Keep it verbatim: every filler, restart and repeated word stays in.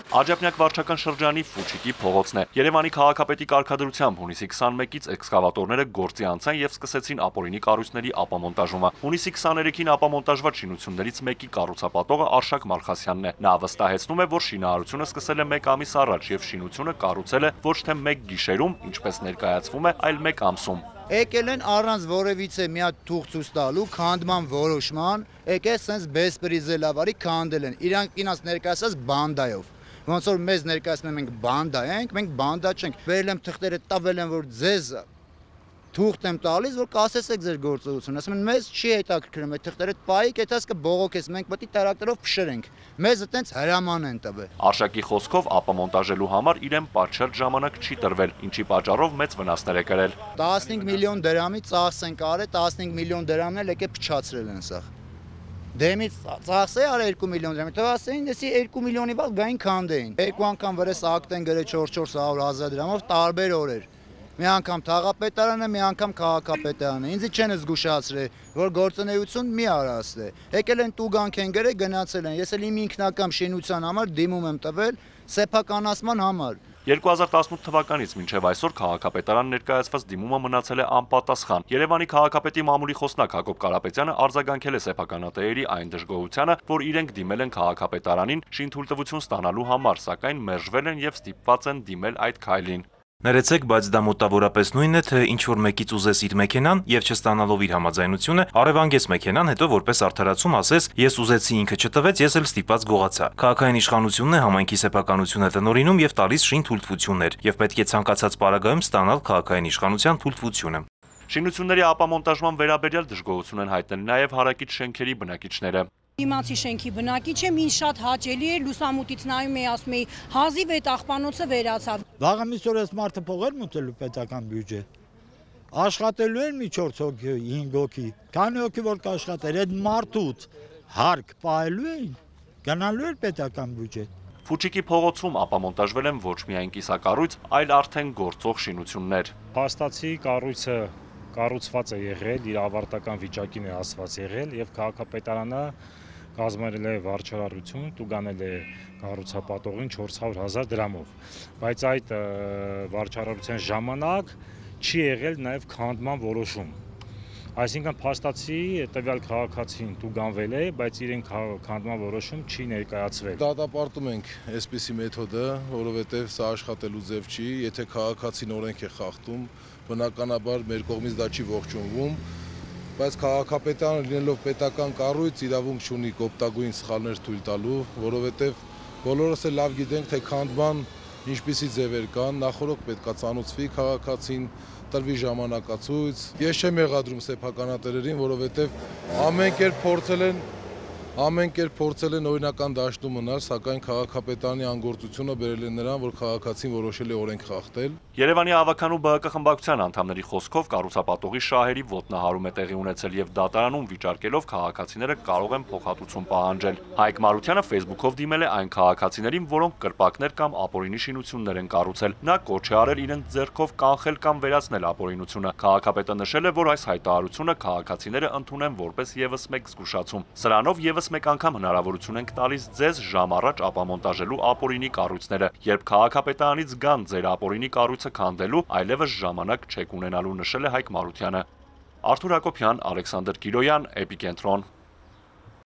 Աջափնյակ վարչական շրջանի Ֆուչիկի փողոցն է։ Երևանի քաղաքապետի կարգադրությամբ հունիսի քսաներկից էքսկավատորները գործի անցան եւ սկսեցին ապօրինի կառույցների ապամոնտաժումը։ Հունիսի քսաներեքին ապամոնտաժված շինություններից մեկի կառուցապատողը Արշակ Մալխասյանն է։ Նա վստահեցնում է, որ շինարարությունը սկսել է մեկ ամիս առաջ եւ շինությունը կառուցել է ոչ թե մեկ գիշերում, ինչպես ներկայացվում է, այլ մեկ ամսում։ Եկել են առանց որևիցե մի հատ թուղթ ցույց տալու, քանդման որոշման, եկել սենց բեսպրիզելավարի քանդել են։ Իրանք ինձ ներկայացած բանդայով։ Ոնց որ մեզ ներկայացնում են մենք բանդա ենք, մենք բանդա չենք։ Վերել եմ թղթերը տավել են, որ ձեզ թուղթ եմ տալիս, որ կասեցեք ձեր գործողությունը։ Ասում են մեզ չի հետաքրքրում այդ թղթերը, պայիկ այդպես կբողոքես, մենք պետք է տարակտերով փշրենք։ Մեզ այտենց հրաման են տվել։ Արշակի խոսքով ապամոնտաժելու համար իրեն պատշաճ ժամանակ չի տրվել, ինչի պատճառով մեծ վնասներ է կրել։ տասնհինգ միլիոն դրամի ծախս են կարել, տասնհինգ միլիոն դրամն էլ եկե փչացրել են սա։ Դեմից ծախսե արա երկու միլիոն դրամի, թվասեին դեսի երկու միլիոնի բալ գային քանդեին։ Երկու անգամ վրես ակտ են գրել չորս հարյուր հազար դրամով տարբեր օրեր։ Մի անգամ թաղապետարանը, մի անգամ քաղաքապետարանը։ Ինձ չեն զգուշացրել, որ գործունեություն մի արաստ է։ Եկել են տուգանք են գրել, գնացել են։ Ես էլ իմ ինքնական շինության համար դիմում եմ տվել սեփականացման համար։ երկու հազար տասնութ թվականից մինչև այսօր քաղաքապետարան ներկայացված դիմումը մնացել է անպատասխան։ Երևանի քաղաքապետի մամուլի խոսնակ Հակոբ Կարապետյանը արձագանքել է սեփականատերերի այն դժգոհությանը, որ իրենք դիմել են քաղաքապետարանին շինթույլտվություն ստանալու համար, սակայն մերժվել են եւ ստիպված են դիմել այդ քայլին։ Ներեցեք, բայց դա մոտավորապես նույնն է, թե ինչ որ մեկից ուզես իր մեքենան եւ չստանալով իր համաձայնությունը, առևանգես մեքենան, հետո որպես արդարացում ասես, ես ուզեցի ինքը չտվեց, ես էլ ստիպված գողացա։ Քաղաքային իշխանությունն է համայնքի սեփականությունը տնօրինում եւ տալիս շինթույլտվություններ, եւ պետք է ցանկացած պարագայում ստանալ քաղաքային իշխանության թույլտվությունը։ Շինությունների ապամոնտաժման վերաբերյալ դժգոհություն են հայտնել նաեւ հարակից շենքերի բնակիչները։ Իմացի շենքի բնակիչ եմ, ինձ շատ հաճելի է, լուսամուտից նայում էի, ասում էի, հազիվ այդ աղբանոցը վերացավ։ Վաղամիս օր այս մարդը փողեր մուտելու պետական բյուջե։ Աշխատելու են մի չորս հոգի, հինգ հոգի, քանի հոգի որ կաշխատեր, այդ մարդուց հարկ պահելու էին, գնալու էր պետական բյուջե։ Ֆուչիկի փողոցում ապամոնտաժվել են ոչ միայն կիսակառույց, այլ արդեն գործող շինություններ։ Փաստացի կառույցը կառուցված է եղել, իր ավարտական վիճակին է հասված եղել եւ քաղաքապետարանը կազմել է վարչարարություն, տուգանել է կառուցապատողին չորս հարյուր հազար դրամով, բայց այդ վարչարարության ժամանակ չի եղել նաեւ քանդման որոշում։ Այսինքն փաստացի տվյալ քաղաքացին տուգանվել է, բայց իրեն քանդման որոշում չի ներկայացվել։ Դատապարտում ենք այսպիսի մեթոդը, որովհետեւ սա աշխատելու ձև չի, եթե քաղաքացին օրենք է խախտում, բնականաբար մեր կողմից դա չի ողջունվում, բայց քաղաքապետարանը լինելով պետական կառույց իրավունք չունի կոպտագույն սխալներ թույլ տալու, որովհետև բոլորս էլ լավ գիտենք, թե քանդման ինչպիսի ձևեր կան, նախորդ պետքա ծանուցվի քաղաքացին, տրվի ժամանակացույց։ Ես չեմ եղադրում սեփականատերերին, որովհետև ամեն կերպ փորձել են Ամեն կերպ փորձել են օրինական դաշտում մնալ, սակայն քաղաքապետարանի անգործությունը բերել է նրան, որ քաղաքացին որոշել է օրենք խախտել։ Երևանի ավականու ԲՀԿ խմբակցության անդամների խոսքով կառուցապատողի շահերի ոտնահարում է տեղի ունեցել եւ դատարանում վիճարկելով քաղաքացիները կարող են փոխհատուցում պահանջել։ Հայկ Մարությանը Facebook-ով դիմել է այն քաղաքացիներին, որոնք կրպակներ կամ ապօրինի շինություններ են կառուցել։ Նա կոչ է արել իրենց ձեռքով կանխել կամ վերացնել ապօրինությունը։ Քաղաքապետը նշել է, որ այս հայտարարությունը քաղաքացիները ընդունեն որպես եւս մեկ զգուշացում։ Սրանով եւս մեկ անգամ հնարավորություն ենք տալիս ձեզ ժամ առաջ ապամոնտաժելու ապօրինի կառույցները, երբ քաղաքապետարանից գան ձեր ապօրինի կառույցը քանդելու, այլևս ժամանակ չեք ունենալու, նշել է Հայկ Մարությանը։ Արթուր Հակոբյան, Ալեքսանդր Կիրոյան, Էպիկենտրոն։